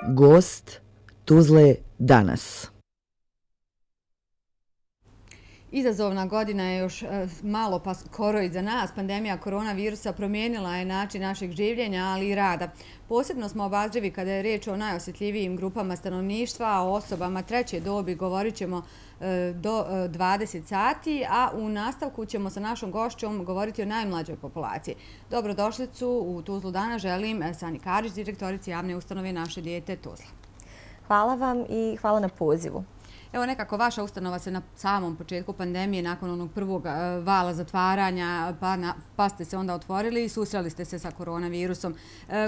Gost Tuzle danas. Izazovna godina je još malo pa skoro iza nas. Pandemija koronavirusa promijenila je način našeg življenja, ali i rada. Posebno smo obazrivi kada je riječ o najosjetljivijim grupama stanovništva, o osobama treće dobi. Govorit ćemo do 20 sati, a u nastavku ćemo sa našom gošćom govoriti o najmlađoj populaciji. Dobrodošlicu u Tuzlu danas želim Sani Karić, direktorici javne ustanove Naše dijete Tuzla. Hvala vam i hvala na pozivu. Evo nekako vaša ustanova se na samom početku pandemije, nakon onog prvog vala zatvaranja, pa ste se onda otvorili i susreli ste se sa koronavirusom.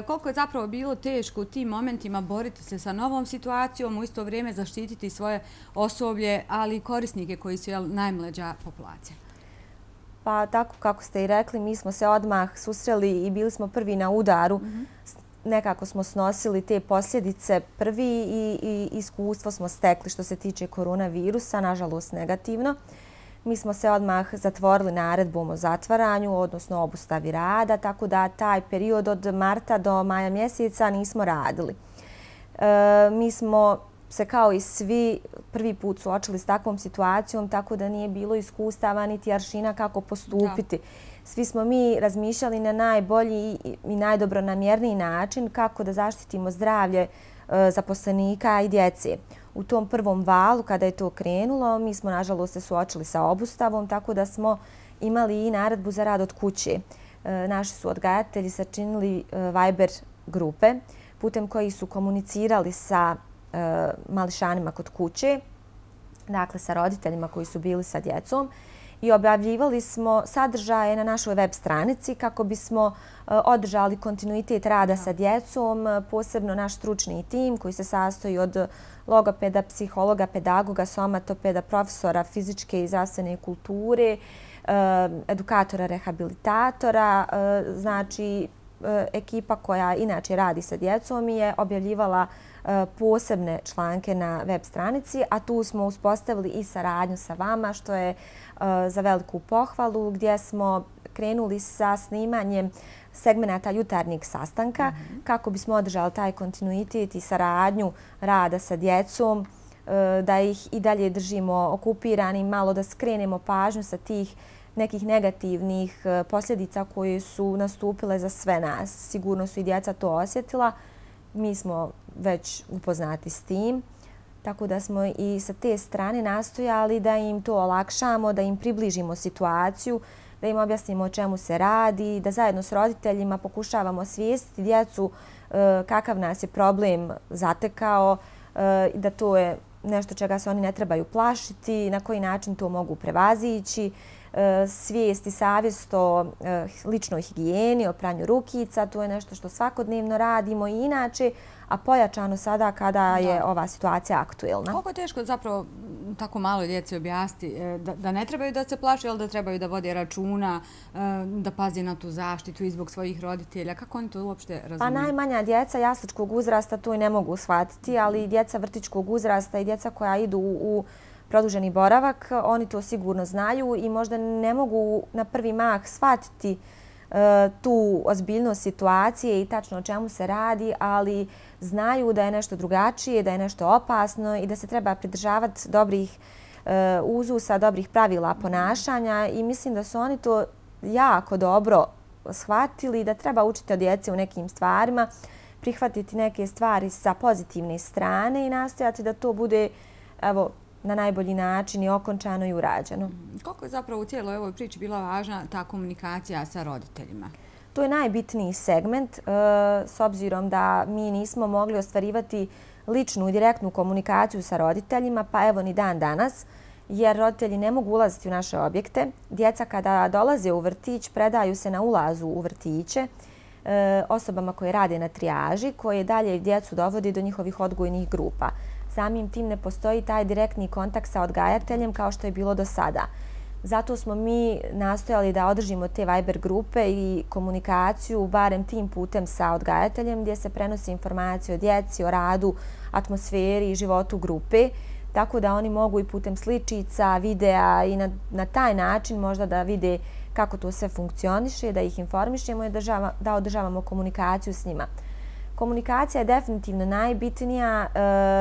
Koliko je zapravo bilo teško u tim momentima boriti se sa novom situacijom, u isto vrijeme zaštititi svoje osoblje, ali i korisnike koji su najmlađa populacija? Pa tako kako ste i rekli, mi smo se odmah susreli i bili smo prvi na udaru. Nekako smo snosili te posljedice prvi i iskustvo smo stekli što se tiče koronavirusa, nažalost negativno. Mi smo se odmah zatvorili naredbom o zatvaranju, odnosno obustavi rada, tako da taj period od marta do maja mjeseca nismo radili. Mi smo se kao i svi prvi put suočili s takvom situacijom, tako da nije bilo iskustava niti aršina kako postupiti. Svi smo mi razmišljali na najbolji i najdobronamjerniji način kako da zaštitimo zdravlje zaposlenika i djece. U tom prvom valu, kada je to krenulo, mi smo nažalost se suočili sa obustavom, tako da smo imali i naredbu za rad od kuće. Naši su odgajatelji sačinili Viber grupe putem kojih su komunicirali sa mališanima kod kuće, dakle sa roditeljima koji su bili sa djecom, i objavljivali smo sadržaje na našoj web stranici kako bismo održali kontinuitet rada sa djecom, posebno naš stručni tim koji se sastoji od logopeda, psihologa, pedagoga, somatopeda, profesora fizičke i zdravstvene kulture, edukatora, rehabilitatora. Znači, ekipa koja inače radi sa djecom je objavljivala posebne članke na web stranici, a tu smo uspostavili i saradnju sa vama, što je za veliku pohvalu, gdje smo krenuli sa snimanjem segmenata jutarnjeg sastanka kako bismo održali taj kontinuitet i saradnju rada sa djecom, da ih i dalje držimo okupirani, malo da skrenemo pažnju sa tih nekih negativnih posljedica koje su nastupile za sve nas. Sigurno su i djeca to osjetila. Mi smo već upoznati s tim, tako da smo i sa te strane nastojali da im to olakšamo, da im približimo situaciju, da im objasnimo o čemu se radi, da zajedno s roditeljima pokušavamo osvijestiti djecu kakav nas je problem zatekao, da to je nešto čega se oni ne trebaju plašiti, na koji način to mogu prevazići, svijest i savjest o ličnoj higijeni, o pranju rukica. To je nešto što svakodnevno radimo i inače, a pojačano sada kada je ova situacija aktuelna. Koliko je teško zapravo tako malo djeci objasniti da ne trebaju da se plaše, ali da trebaju da vode računa, da pazi na tu zaštitu i zbog svojih roditelja? Kako oni to uopšte razumiju? Pa najmanja djeca jasličkog uzrasta to i ne mogu shvatiti, ali djeca vrtićkog uzrasta i djeca koja idu u produženi boravak, oni to sigurno znaju i možda ne mogu na prvi mah shvatiti tu ozbiljnost situacije i tačno o čemu se radi, ali znaju da je nešto drugačije, da je nešto opasno i da se treba pridržavati dobrih uzusa, dobrih pravila ponašanja, i mislim da su oni to jako dobro shvatili, da treba učiti od djece u nekim stvarima, prihvatiti neke stvari sa pozitivne strane i nastojati da to bude na najbolji način i okončano i urađeno. Koliko je zapravo u cijeloj ovoj priči bila važna ta komunikacija sa roditeljima? To je najbitniji segment, s obzirom da mi nismo mogli ostvarivati ličnu i direktnu komunikaciju sa roditeljima, pa evo ni dan danas, jer roditelji ne mogu ulaziti u naše objekte. Djeca kada dolaze u vrtić predaju se na ulazu u vrtiće osobama koje rade na trijaži, koje dalje djecu dovodi do njihovih odgojnih grupa. Samim tim ne postoji taj direktni kontakt sa odgajateljem kao što je bilo do sada. Zato smo mi nastojali da održimo te Viber grupe i komunikaciju barem tim putem sa odgajateljem, gdje se prenosi informacije o djeci, o radu, atmosferi i životu grupe, tako da oni mogu i putem sličica, videa i na taj način možda da vide kako to sve funkcioniše, da ih informišemo i da održavamo komunikaciju s njima. Komunikacija je definitivno najbitnija.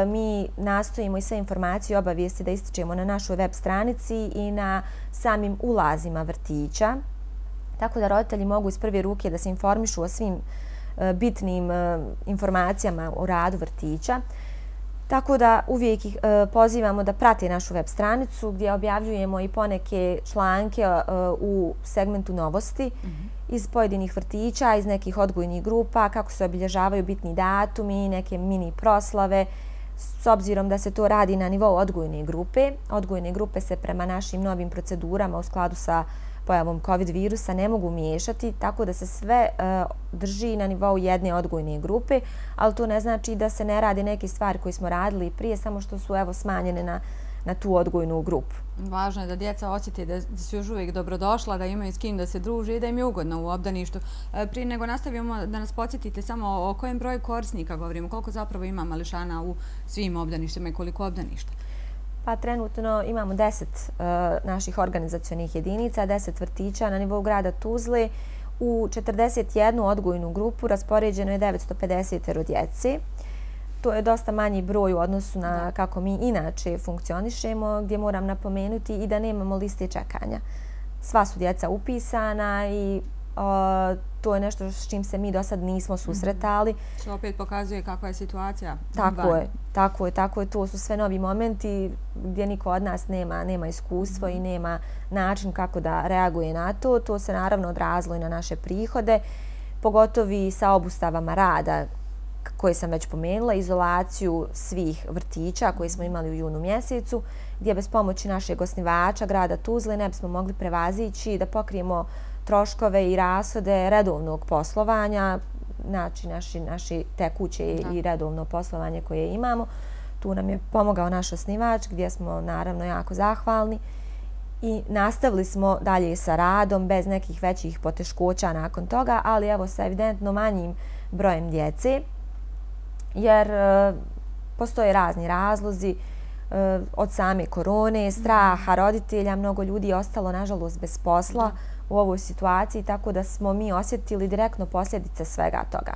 Mi nastojimo i sve informacije i obavijesti da ističemo na našoj web stranici i na samim ulazima vrtića. Tako da roditelji mogu iz prve ruke da se informišu o svim bitnim informacijama o radu vrtića. Tako da uvijek ih pozivamo da prate našu web stranicu gdje objavljujemo i poneke članke u segmentu novosti iz pojedinih vrtića, iz nekih odgojnih grupa, kako se obilježavaju bitni datumi, neke mini proslave, s obzirom da se to radi na nivou odgojne grupe. Odgojne grupe se prema našim novim procedurama u skladu sa pojavom COVID virusa ne mogu miješati, tako da se sve drži na nivou jedne odgojne grupe, ali to ne znači da se ne radi neke stvari koje smo radili prije, samo što su smanjene na tu odgojnu grupu. Važno je da djeca osjete da su još uvijek dobrodošla, da imaju s kim da se druže i da im je ugodno u obdaništu. Prije nego nastavimo, da nas podsjetite samo o kojem broju korisnika govorimo, koliko zapravo ima mališana u svim obdaništima i koliko obdaništa? Pa trenutno imamo 10 naših organizacionih jedinica, 10 vrtića na nivou grada Tuzle. U 41 odgojnu grupu raspoređeno je 950 djece. To je dosta manji broj u odnosu na kako mi inače funkcionišemo, gdje moram napomenuti i da nemamo liste čekanja. Sva su djeca upisana i to je nešto s čim se mi do sad nismo susretali. Što opet pokazuje kakva je situacija. Tako je. To su sve novi momenti gdje niko od nas nema iskustvo i nema način kako da reaguje na to. To se naravno odrazilo i na naše prihode, pogotovo i sa obustavama rada koje sam već pomenula, izolaciju svih vrtića koje smo imali u junu mjesecu, gdje bez pomoći našeg osnivača grada Tuzle ne bismo mogli prevazići da pokrijemo troškove i rashode redovnog poslovanja, znači naši tekuće i redovno poslovanje koje imamo. Tu nam je pomogao naš osnivač gdje smo naravno jako zahvalni i nastavili smo dalje sa radom bez nekih većih poteškoća nakon toga, ali evo sa evidentno manjim brojem djece, jer postoje razni razlozi od same korone, straha roditelja, mnogo ljudi je ostalo nažalost bez posla u ovoj situaciji, tako da smo mi osjetili direktno posljedice svega toga.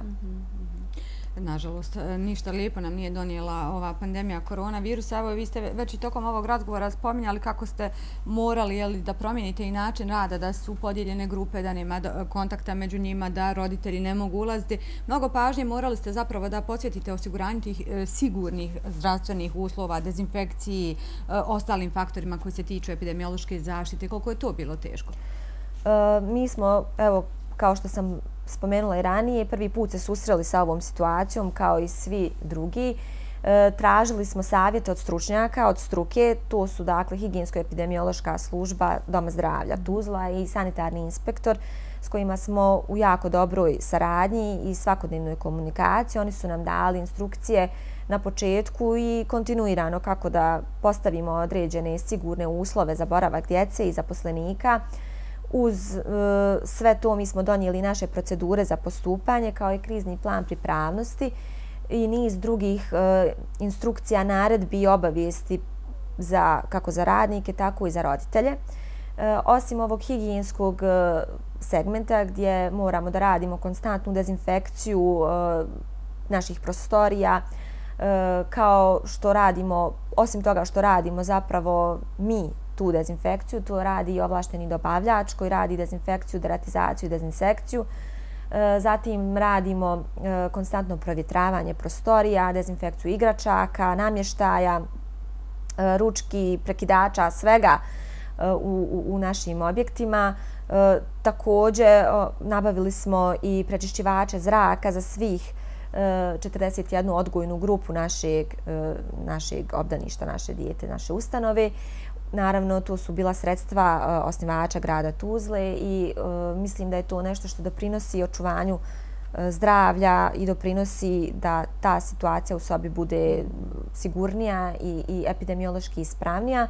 Nažalost, ništa lijepo nam nije donijela ova pandemija koronavirusa. Evo, vi ste već i tokom ovog razgovora spominjali kako ste morali da promijenite i način rada, da su podijeljene grupe, da nema kontakta među njima, da roditelji ne mogu ulaziti. Mnogo pažnje morali ste zapravo da posvetite osiguranju tih sigurnih zdravstvenih uslova, dezinfekciji, ostalim faktorima koji se tiču epidemiološke zaštite. Koliko je to bilo teško? Mi smo, evo, kao što sam spomenula i ranije, prvi put se susreli sa ovom situacijom kao i svi drugi. Tražili smo savjete od stručnjaka, od struke, to su dakle higijensko-epidemiološka služba Doma zdravlja Tuzla i sanitarni inspektor s kojima smo u jako dobroj saradnji i svakodnevnoj komunikaciji. Oni su nam dali instrukcije na početku i kontinuirano kako da postavimo određene sigurne uslove za boravak djece i zaposlenika. Uz sve to mi smo donijeli naše procedure za postupanje kao i krizni plan pripravnosti i niz drugih instrukcija, naredbi i obavijesti kako za radnike, tako i za roditelje. Osim ovog higijenskog segmenta gdje moramo da radimo konstantnu dezinfekciju naših prostorija, kao što radimo, osim toga što radimo zapravo mi tu dezinfekciju, to radi i ovlašteni dobavljač koji radi dezinfekciju, deratizaciju i dezinsekciju. Zatim radimo konstantno provjetravanje prostorija, dezinfekciju igračaka, namještaja, ručki, prekidača, svega u našim objektima. Također nabavili smo i prečišćivače zraka za svih 41 odgojnu grupu našeg obdaništa, naše dijete, naše ustanove. Naravno, to su bila sredstva osnivača grada Tuzle i mislim da je to nešto što doprinosi očuvanju zdravlja i doprinosi da ta situacija u sobi bude sigurnija i epidemiološki ispravnija.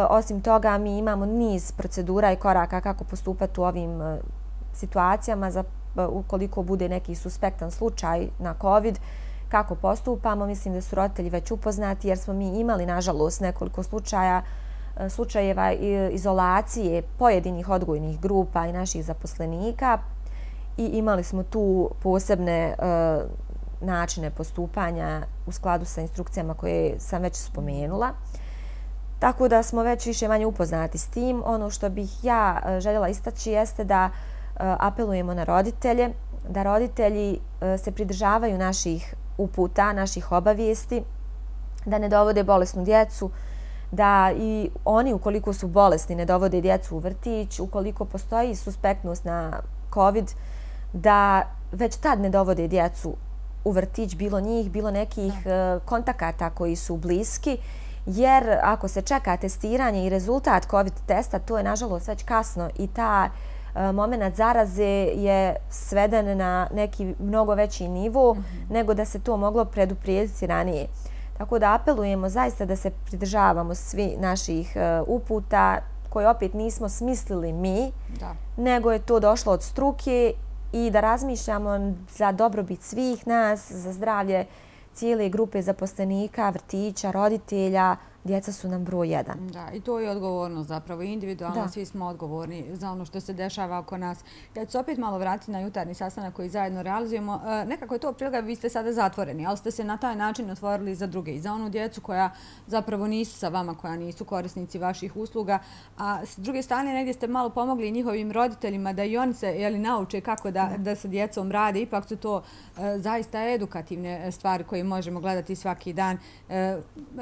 Osim toga, mi imamo niz procedura i koraka kako postupati u ovim situacijama ukoliko bude neki suspektan slučaj na COVID, kako postupamo. Mislim da su roditelji već upoznati jer smo mi imali, nažalost, nekoliko slučajeva izolacije pojedinih odgojnih grupa i naših zaposlenika i imali smo tu posebne načine postupanja u skladu sa instrukcijama koje sam već spomenula. Tako da smo već više manje upoznati s tim. Ono što bih ja željela istaći jeste da apelujemo na roditelje, da roditelji se pridržavaju naših uputa, naših obavijesti, da ne dovode bolesnu djecu, da i oni ukoliko su bolesni ne dovode djecu u vrtić, ukoliko postoji suspektnost na COVID, da već tad ne dovode djecu u vrtić, bilo njih, bilo nekih kontakata koji su bliski, jer ako se čeka testiranje i rezultat COVID testa, to je nažalost već kasno i ta moment zaraze je sveden na neki mnogo veći nivo nego da se to moglo preduprijediti ranije. Tako da apelujemo zaista da se pridržavamo svi naših uputa koje opet nismo smislili mi, nego je to došlo od struke i da razmišljamo za dobrobit svih nas, za zdravlje cijele grupe zaposlenika, vrtića, roditelja. Djeca su nam broj jedan. Da, i to je odgovornost zapravo. Individualno svi smo odgovorni za ono što se dešava oko nas. Ja ću se opet malo vratiti na jutarnji sastanak koji zajedno realizujemo. Nekako je to prilika, vi ste sada zatvoreni, ali ste se na taj način otvorili za druge i za onu djecu koja zapravo nisu sa vama, koja nisu korisnici vaših usluga. A s druge strane, negdje ste malo pomogli njihovim roditeljima da i oni se nauče kako da sa djecom rade. Ipak su to zaista edukativne stvari koje možemo gledati svaki dan.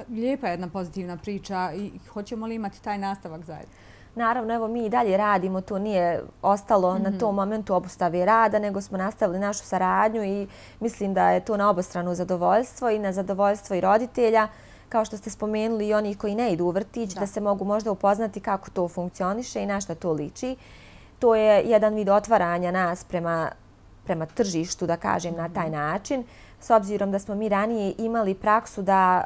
Lijepa je jedna pozitivna priča i hoćemo li imati taj nastavak zajedno? Naravno, evo mi i dalje radimo, to nije ostalo na tom momentu obustave rada, nego smo nastavili našu saradnju i mislim da je to na obostrano zadovoljstvo i na zadovoljstvo i roditelja, kao što ste spomenuli i onih koji ne idu u vrtić, da se mogu možda upoznati kako to funkcioniše i na šta to liči. To je jedan vid otvaranja nas prema tržištu, da kažem, na taj način. S obzirom da smo mi ranije imali praksu da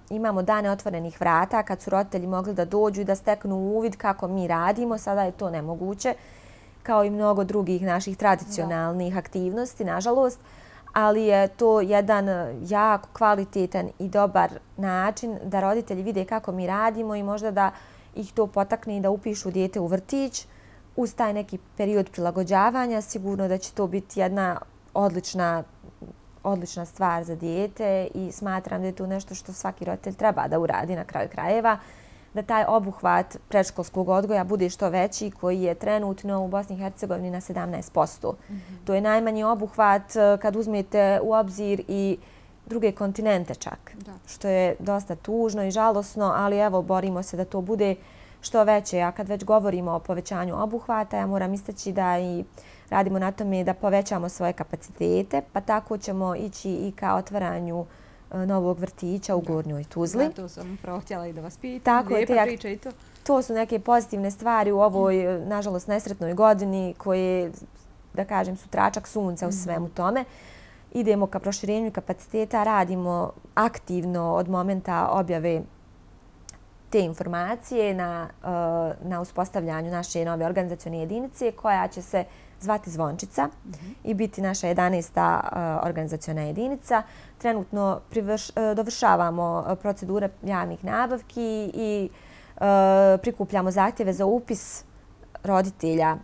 imamo dane otvorenih vrata kad su roditelji mogli da dođu i da steknu uvid kako mi radimo, sada je to nemoguće, kao i mnogo drugih naših tradicionalnih aktivnosti, nažalost, ali je to jedan jako kvalitetan i dobar način da roditelji vide kako mi radimo i možda da ih to potakne i da upišu dijete u vrtić. Uz taj neki period prilagođavanja sigurno da će to biti jedna odlična stvar za dijete i smatram da je to nešto što svaki roditelj treba da uradi na kraju krajeva, da taj obuhvat predškolskog odgoja bude što veći, koji je trenutno u Bosni i Hercegovini na 17%. To je najmanji obuhvat kad uzmete u obzir i druge kontinente čak, što je dosta tužno i žalosno, ali evo borimo se da to bude što veće. A kad već govorimo o povećanju obuhvata, ja moram istaći da i radimo na tome da povećamo svoje kapacitete, pa tako ćemo ići i ka otvaranju novog vrtića u Gornjoj Tuzli. Da, to sam upravo htjela i da vas pitam. Lijepa priča i to. To su neke pozitivne stvari u ovoj, nažalost, nesretnoj godini koje, da kažem, su tračak sunca u svemu tome. Idemo ka proširenju kapaciteta, radimo aktivno od momenta objave te informacije na uspostavljanju naše nove organizacione jedinice koja će se zvati Zvončica i biti naša 11. organizaciona jedinica. Trenutno dovršavamo procedure javnih nabavki i prikupljamo zahtjeve za upis roditelja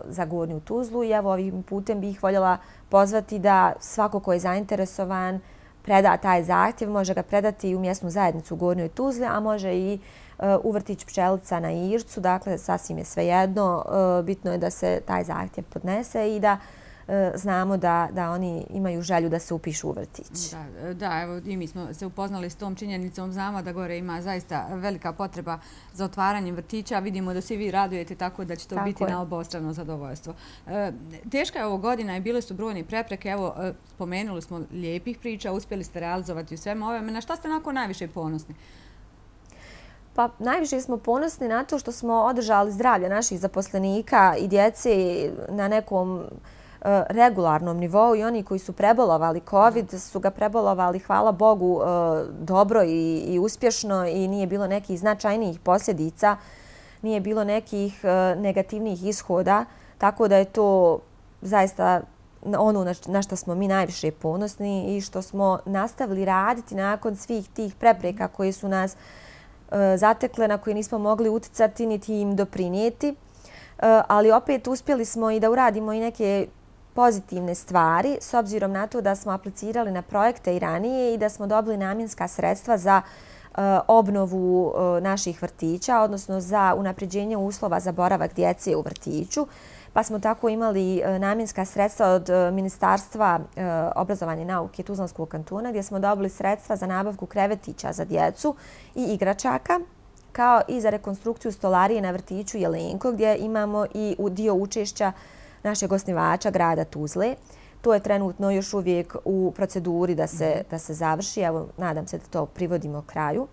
za Gornju Tuzlu i evo ovim putem bih voljela pozvati da svako ko je zainteresovan preda taj zahtjev, može ga predati i u mjesnu zajednicu u Gornjoj Tuzli, a može i u vrtić Pčelica na Ircu. Dakle, sasvim je svejedno. Bitno je da se taj zahtjev podnese i da znamo da oni imaju želju da se upišu u vrtić. Da, evo i mi smo se upoznali s tom činjenicom. Znamo da gore ima zaista velika potreba za otvaranjem vrtića. Vidimo da svi vi radujete tako da će to biti na obostrano zadovoljstvo. Teška je ovo godina i bile su brojne prepreke. Evo, spomenuli smo lijepih priča, uspjeli ste realizovati u svemu ovome. Na šta ste onako najviše ponosni? Pa najviše smo ponosni na to što smo održali zdravlje naših zaposlenika i djece na nekom regularnom nivou i oni koji su prebolovali COVID su ga prebolovali, hvala Bogu, dobro i uspješno i nije bilo nekih značajnijih posljedica, nije bilo nekih negativnih ishoda, tako da je to zaista ono na što smo mi najviše ponosni i što smo nastavili raditi nakon svih tih prepreka koje su nas zatekle, na koje nismo mogli uticati niti im doprinijeti, ali opet uspjeli smo i da uradimo i neke pozitivne stvari s obzirom na to da smo aplicirali na projekte i ranije i da smo dobili namjenska sredstva za obnovu naših vrtića, odnosno za unapređenje uslova za boravak djece u vrtiću. Pa smo tako imali namjenska sredstva od Ministarstva obrazovanja i nauke Tuzlanskog kantona gdje smo dobili sredstva za nabavku krevetića za djecu i igračaka, kao i za rekonstrukciju stolarije na vrtiću Jelenko gdje imamo i dio učešća našeg osnivača grada Tuzle. To je trenutno još uvijek u proceduri da se završi. Evo, nadam se da to privodimo kraju.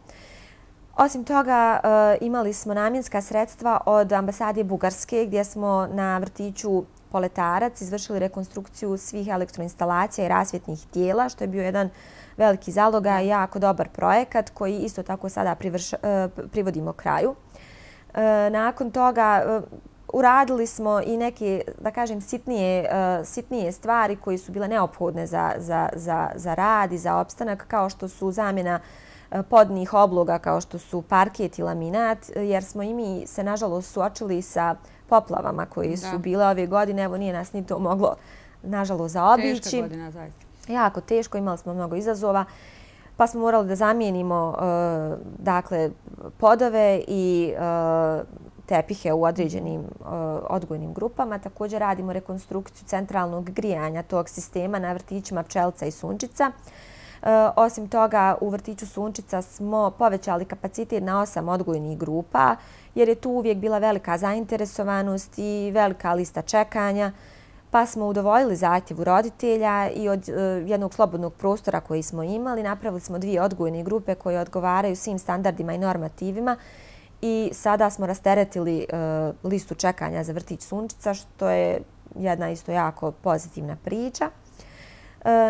Osim toga, imali smo namjenska sredstva od ambasade Bugarske gdje smo na vrtiću Poletarac izvršili rekonstrukciju svih elektroinstalacija i rasvjetnih tijela, što je bio jedan veliki zalogaj i jako dobar projekat koji isto tako sada privodimo kraju. Nakon toga uradili smo i neke, da kažem, sitnije stvari koje su bile neophodne za rad i za opstanak, kao što su zamjena podnih obloga, kao što su parket i laminat, jer smo i mi se nažalost suočili sa poplavama koje su bile ove godine. Evo, nije nas ni to moglo nažalost zaobići. Teška godina, zaista. Jako teško, imali smo mnogo izazova, pa smo morali da zamijenimo podove i tepihe u određenim odgojnim grupama. Također radimo rekonstrukciju centralnog grijanja tog sistema na vrtićima Pčelica i Sunčica. Osim toga, u vrtiću Sunčica smo povećali kapacitet na 8 odgojnih grupa, jer je tu uvijek bila velika zainteresovanost i velika lista čekanja, pa smo udovoljili zahtjevu roditelja i od jednog slobodnog prostora koji smo imali napravili smo 2 odgojne grupe koje odgovaraju svim standardima i normativima i sada smo rasteretili listu čekanja za vrtić Sunčica, što je jedna isto jako pozitivna priča.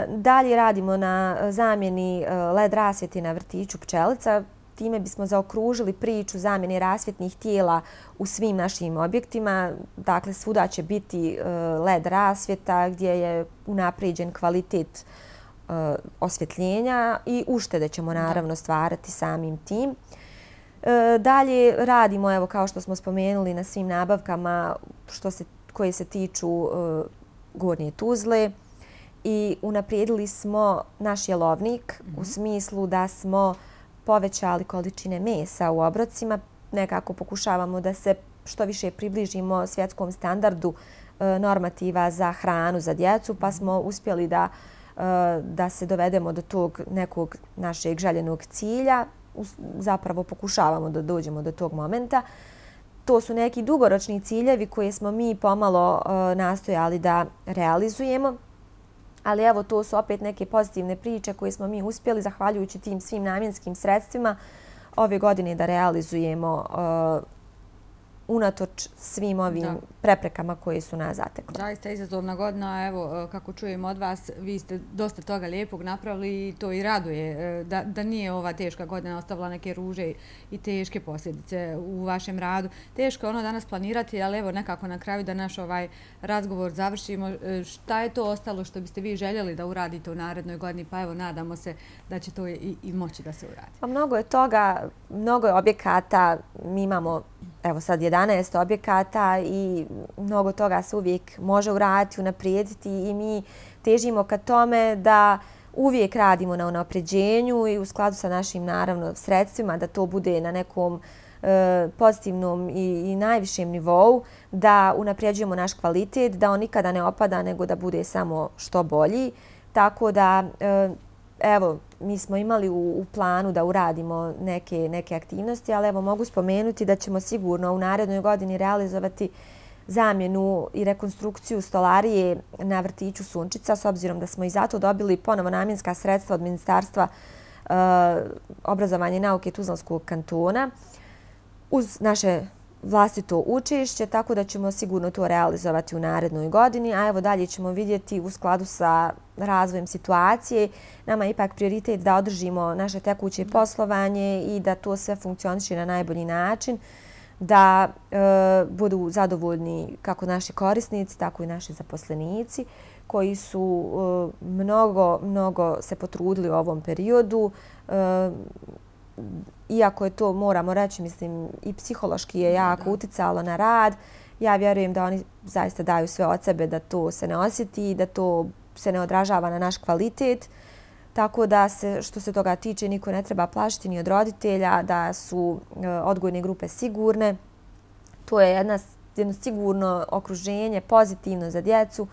Dalje radimo na zamjeni LED rasvjeti na vrtiću Pčelica. Time bismo zaokružili priču zamjene rasvjetnih tijela u svim našim objektima. Dakle, svuda će biti LED rasvjeta gdje je unaprijeđen kvalitet osvjetljenja i uštede ćemo naravno stvarati samim tim. Dalje radimo, evo kao što smo spomenuli, na svim nabavkama koje se tiču Gornje Tuzle i unaprijedili smo naš jelovnik u smislu da smo povećali količine mesa u obrocima. Nekako pokušavamo da se što više približimo svjetskom standardu normativa za hranu za djecu, pa smo uspjeli da se dovedemo do tog nekog našeg željenog cilja. Zapravo pokušavamo da dođemo do tog momenta. To su neki dugoročni ciljevi koje smo mi pomalo nastojali da realizujemo. Ali evo, to su opet neke pozitivne priče koje smo mi uspjeli, zahvaljujući tim svim namjenskim sredstvima, ove godine da realizujemo unatoč svim ovim preprekama koje su nas zatekle. Zaista izazovna godina, evo, kako čujem od vas, vi ste dosta toga lijepog napravili i to i raduje da nije ova teška godina ostavila neke ruže i teške posljedice u vašem radu. Teško je ono danas planirati, ali evo nekako na kraju da naš ovaj razgovor završimo. Šta je to ostalo što biste vi željeli da uradite u narednoj godini? Pa evo, nadamo se da će to i moći da se uradi. Pa mnogo je toga, mnogo je objekata. Mi imamo evo sad 11 objekata i mnogo toga se uvijek može uraditi, unaprijediti i mi težimo ka tome da uvijek radimo na unapređenju i u skladu sa našim naravno sredstvima da to bude na nekom pozitivnom i najvišem nivou, da unapređujemo naš kvalitet, da on nikada ne opada nego da bude samo što bolji. Tako da evo, mi smo imali u planu da uradimo neke aktivnosti, ali evo mogu spomenuti da ćemo sigurno u narednoj godini realizovati zamjenu i rekonstrukciju stolarije na vrtiću Sunčica, s obzirom da smo i zato dobili ponovo namjenska sredstva od Ministarstva obrazovanja i nauke Tuzlanskog kantona uz naše vlastito učešće, tako da ćemo sigurno to realizovati u narednoj godini, a evo dalje ćemo vidjeti u skladu sa razvojem situacije. Nama je ipak prioritet da održimo naše tekuće poslovanje i da to sve funkcioniše na najbolji način, da budu zadovoljni kako naši korisnici, tako i naši zaposlenici koji su mnogo se potrudili u ovom periodu. Iako je to, moramo reći, mislim, i psihološki je jako uticalo na rad, Ja vjerujem da oni zaista daju sve od sebe da to se ne osjeti, da to se ne odražava na naš kvalitet. Tako da se, što se toga tiče, niko ne treba plašiti ni od roditelja, da su odgojne grupe sigurne. To je jedno sigurno okruženje, pozitivno za djecu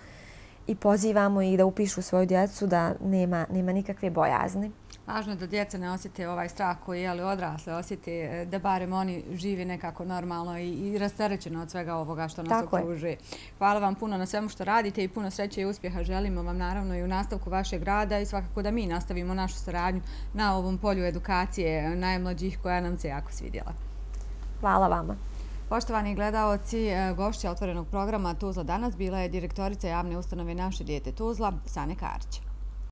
i pozivamo ih da upišu svoju djecu, da nema nikakve bojazni. Važno je da djeca ne osjete ovaj strah koji odrasle osjete, da barem oni žive nekako normalno i rasterećeno od svega ovoga što nas okružuje. Hvala vam puno na svemu što radite i puno sreće i uspjeha želimo vam naravno i u nastavku vašeg rada i svakako da mi nastavimo našu saradnju na ovom polju edukacije najmlađih koja nam se jako svidjela. Hvala vama. Poštovani gledaoci, gošća otvorenog programa Tuzla danas bila je direktorica javne ustanove Naše dijete Tuzla, Sane Karić.